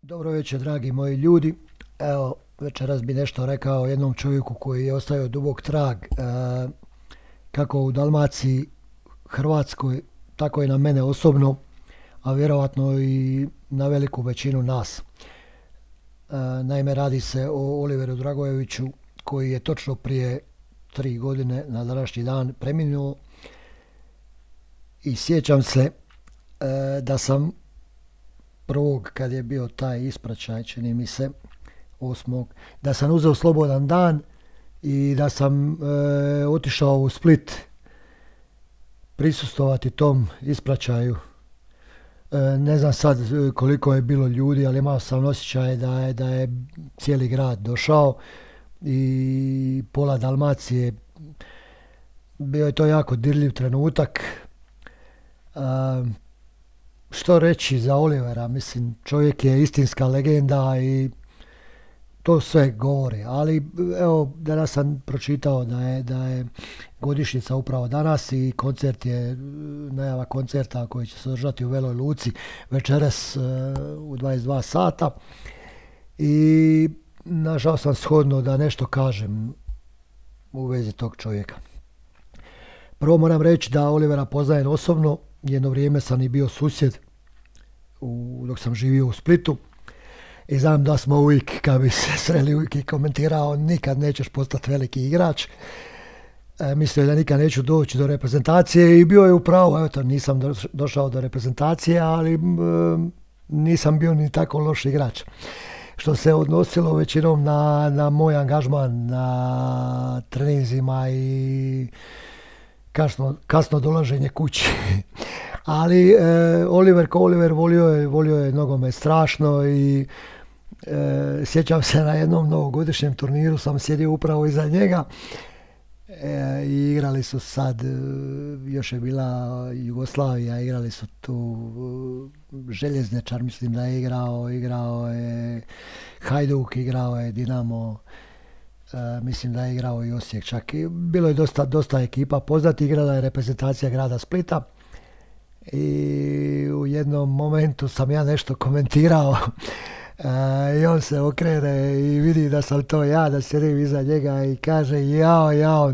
Dobro večer, dragi moji ljudi. Evo, večeras bi nešto rekao o jednom čovjeku koji je ostavio dubok trag, kako u Dalmaciji, Hrvatskoj, tako i na mene osobno, a vjerovatno i na veliku većinu nas. Naime, radi se o Oliveru Dragojeviću, koji je točno prije 3 godine na današnji dan preminuo. I sjećam se da sam prvog, kad je bio taj ispraćaj, čini mi se, 8. da sam uzeo slobodan dan i da sam otišao u Split prisustvovati tom ispraćaju. Ne znam sad koliko je bilo ljudi, ali imao sam osjećaj da je cijeli grad došao i pola Dalmacije. Bio je to jako dirljiv trenutak. Što reći za Olivera? Mislim, čovjek je istinska legenda i to sve govori. Ali evo, danas sam pročitao da je godišnjica upravo danas i koncert je, najava koncerta koji će se održati u Veloj Luci večeras u 22 sata. I našao sam shodno da nešto kažem u vezi tog čovjeka. Prvo moram reći da Olivera poznajem osobno. Jedno vrijeme sam i bio susjed dok sam živio u Splitu i znam da smo uvijek, kad bi se sreli, uvijek i komentirao: nikad nećeš postati veliki igrač. Mislio je da nikad neću doći do reprezentacije i bio je upravo. Eto, nisam došao do reprezentacije, ali nisam bio ni tako loš igrač. Što se odnosilo većinom na moj angažman na treninzima i kasno dolaženje kući. Ali Oliver ko Oliver volio je nogomet strašno i sjećam se na jednom novogodišnjem turniru sam sjedio upravo iza njega i igrali su sad, još je bila Jugoslavija, igrali su tu Željezničar, mislim da je igrao je Hajduk, igrao je Dinamo, mislim da je igrao i Osijek čak. Bilo je dosta ekipa poznati, igrala je reprezentacija grada Splita i u jednom momentu sam ja nešto komentirao i on se okrene i vidi da sam to ja, da sjedim iza njega i kaže: jao,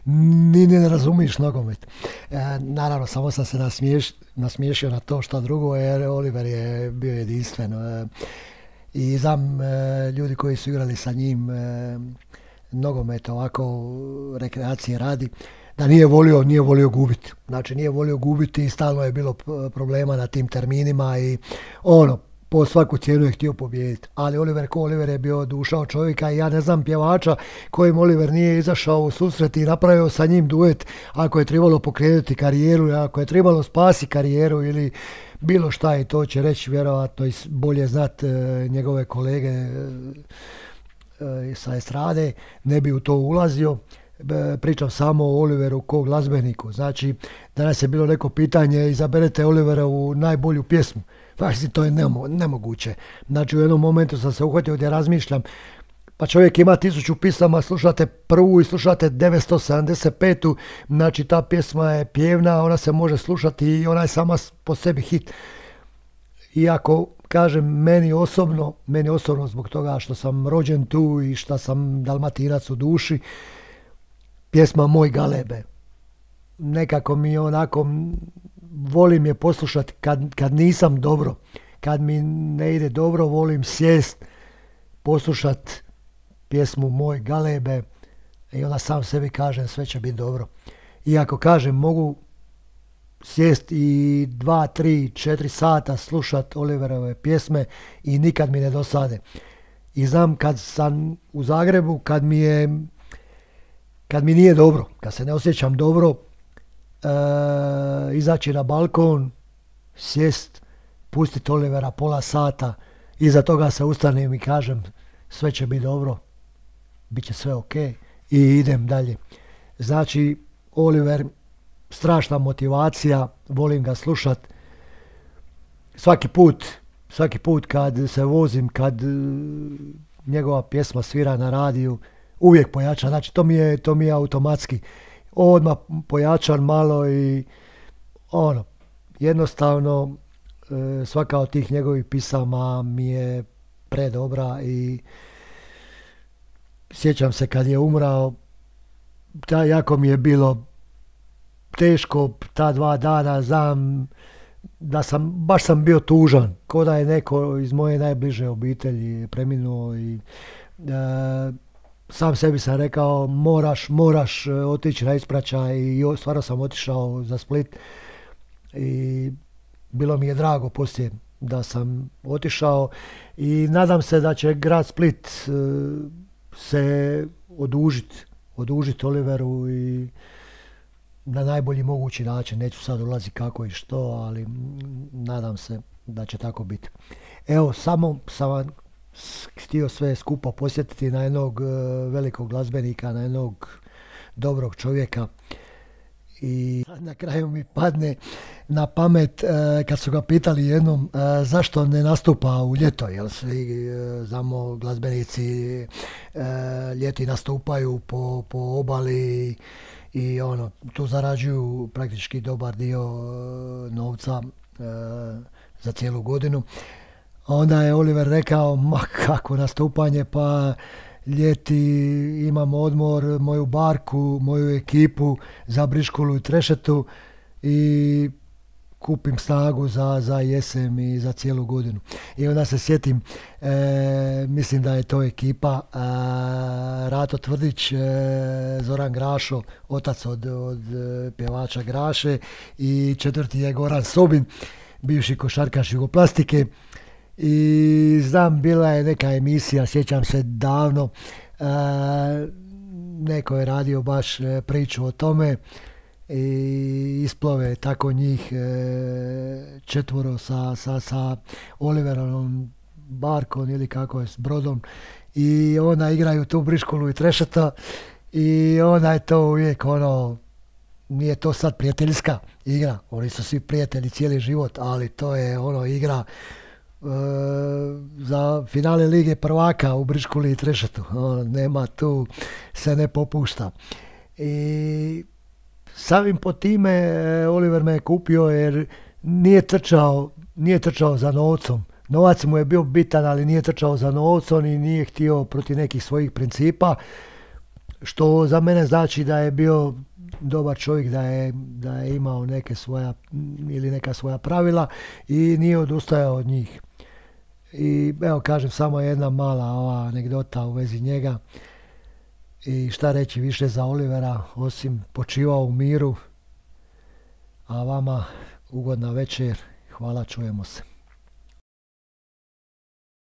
ni ne razumiš nogomet. Naravno, samo sam se nasmiješio na to, što drugo, jer Oliver je bio jedinstven. I znam ljudi koji su igrali sa njim nogomet ovako rekreacije radi, da nije volio gubiti. Znači, nije volio gubiti i stalno je bilo problema na tim terminima i po svaku cijenu je htio pobijediti. Ali Oliver ko Oliver je bio duša od čovjeka i ja ne znam pjevača kojim Oliver nije izašao u susret i napravio sa njim duet ako je trebalo pokrenuti karijeru, ako je trebalo spasiti karijeru ili bilo šta, i to će reći vjerojatno i bolje znat njegove kolege sa estrade, ne bi u to ulazio. Pričam samo o Oliveru kao glazbeniku. Znači, danas je bilo neko pitanje: izaberete Oliverovu najbolju pjesmu. Znači, to je nemoguće. Znači, u jednom momentu sam se uhvatio gdje razmišljam, pa čovjek ima 1000 pisama, slušate prvu i slušate 975. Znači, ta pjesma je pjevna, ona se može slušati i ona je sama po sebi hit. Iako, kažem, meni osobno zbog toga što sam rođen tu i što sam Dalmatinac u duši, pjesma Moj Galebe, nekako mi onako, volim je poslušati kad nisam dobro, kad mi ne ide dobro, volim sjest, poslušat pjesmu Moj Galebe i onda sam sebi kažem: sve će biti dobro. Iako, kažem, mogu sjest i 2, 3, 4 sata slušat Oliverove pjesme i nikad mi ne dosade. I znam kad sam u Zagrebu, kad mi nije dobro, kad se ne osjećam dobro, izaći na balkon, sjest, pustiti Olivera pola sata, iza toga se ustanem i kažem: sve će biti dobro, bit će sve ok, i idem dalje. Znači, Oliver, strašna motivacija, volim ga slušat. Svaki put kad se vozim, kad njegova pjesma svira na radiju, uvijek pojačan. Znači, to mi je automatski. Odmah pojačan malo i jednostavno svaka od tih njegovih pisama mi je predobra i sjećam se kad je umrao, jako mi je bilo teško ta 2 dana, znam da baš sam bio tužan, ko da je neko iz moje najbliže obitelji preminuo i sam sebi sam rekao moraš otići na ispraćaj i stvarno sam otišao za Split i bilo mi je drago poslije da sam otišao i nadam se da će grad Split se odužiti Oliveru i na najbolji mogući način. Neću sad ulaziti kako i što, ali nadam se da će tako biti. Evo, samo sam vam htio sve skupo posjetiti na jednog velikog glazbenika, na jednog dobrog čovjeka. I na kraju mi padne na pamet kad su ga pitali jednom zašto ne nastupa u ljeto, jer svi znamo glazbenici ljeti nastupaju po obali i tu zarađuju praktički dobar dio novca za cijelu godinu. Onda je Oliver rekao, ma kako nastupanje, pa ljeti imam odmor, moju barku, moju ekipu za briškulu i trešetu i kupim snagu za jesen i za cijelu godinu. I onda se sjetim, mislim da je to ekipa Rato Tvrdić, Zoran Grašo, otac od pjevača Graše, i 4. je Goran Sobin, bivši košarkaš Jugoplastike. I znam, bila je neka emisija, sjećam se davno, neko je radio baš priču o tome i isplove tako njih 4 sa Oliverom barkom ili kako je, s brodom, i onda igraju tu briškulu i trešeta i onda je to uvijek nije to sad prijateljska igra, oni su svi prijatelji cijeli život, ali to je igra za finale Lige prvaka u briškuli i trešetu. Nema tu, se ne popušta. I samim po time Oliver me je kupio jer nije trčao za novcom. Novac mu je bio bitan, ali nije trčao za novcom i nije htio protiv nekih svojih principa, što za mene znači da je bio dobar čovjek, da je imao neka svoja pravila i nije odustajao od njih. I evo, kažem, samo jedna mala ova anegdota u vezi njega. I šta reći više za Olivera, osim počivao u miru, a vama ugodna večer. Hvala, čujemo se.